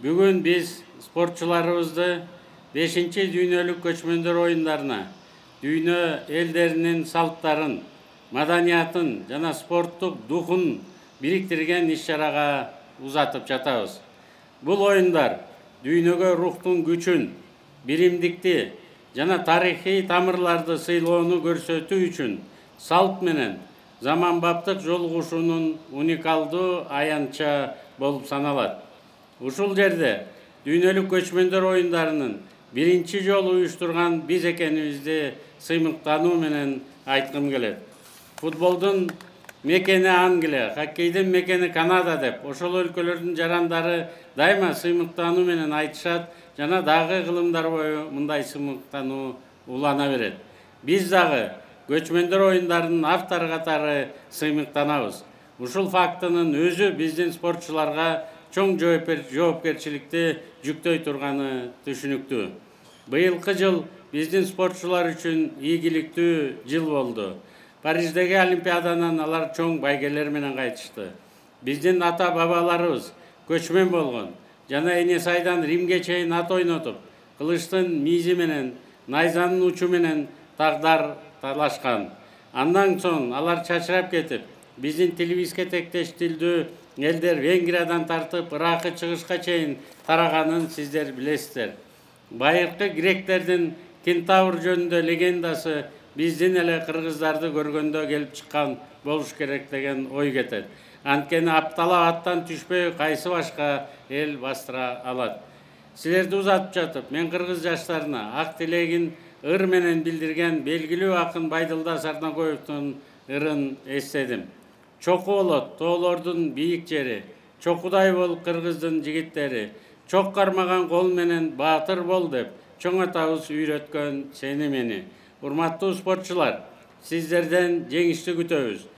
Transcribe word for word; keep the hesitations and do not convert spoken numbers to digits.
Бүгүн биз спортчуларыбызды бешинчи дүйнөлүк көчмөндөр оюндарына дүйнө элдеринин салттарын, маданиятын жана спорттук духун бириктирген иш-чарага узатып жатабыз. Бул оюндар дүйнөгө рухтун күчүн, биримдикти жана тарыхый тамырларды сыйлоону көрсөтүү үчүн салт менен заманбаптык жолугушуунун уникалдуу аянтча болуп саналат. Ушул жерде дүйнөлүк көчмөндөр оюндарынын биринчи жолу уюштурган биз экенибизди сыймыктануу менен айткым келет. Футболдун мекени Англия, хоккейдин мекени Канада деп ошол өлкөлөрдүн жарандары дайыма сыймыктануу менен айтышат жана дагы кылымдар бою мындай сыймыктануу улана берет. Биз дагы көчмөндөр оюндарынын автору катары сыймыктанабыз. Ушул фактынын өзү биздин спортчуларга чоң жоопкерчиликти жүктөй турганы түшүнүктүү. Быйылкы жыл биздин спортчулар үчүн ийгиликтүү жыл болду. Париждеги Олимпиаданан алар чоң байгелер менен кайтышты. Биздин ата-бабаларыбыз көчмөн болгон жана эне сайдан Римге чейин ат ойнотуп, кылычтын мизи менен, найзанын учу менен тагдар талашкан. Андан соң алар чачырап кетип, биздин тилибизге тектеш тилдүү элдер Венгриядан тартып Иракы чыгышка чейин тараганын сиздер билесиздер. Байыркы гректердин кентавр жөнүндө легендасы биздин эле кыргыздарды көргөндө келип чыккан болуш керек деген ой кетет. Анткени апталап аттан түшпөй кайсы башка эл бастыра алат. Силерди узатып жатып, мен кыргыз жаштарына ак тилегин ыр менен билдирген белгилүү акын Байдылда Сарнакоевдун ырын эстедим. Чоку болот тоолордун бийик жери, чокудай бол кыргыздын жигиттери, чок кармаган кол менен баатыр бол деп чоң атабыз үйрөткөн сени мени. Урматтуу спортчулар, сиздерден жеңишти күтөбүз.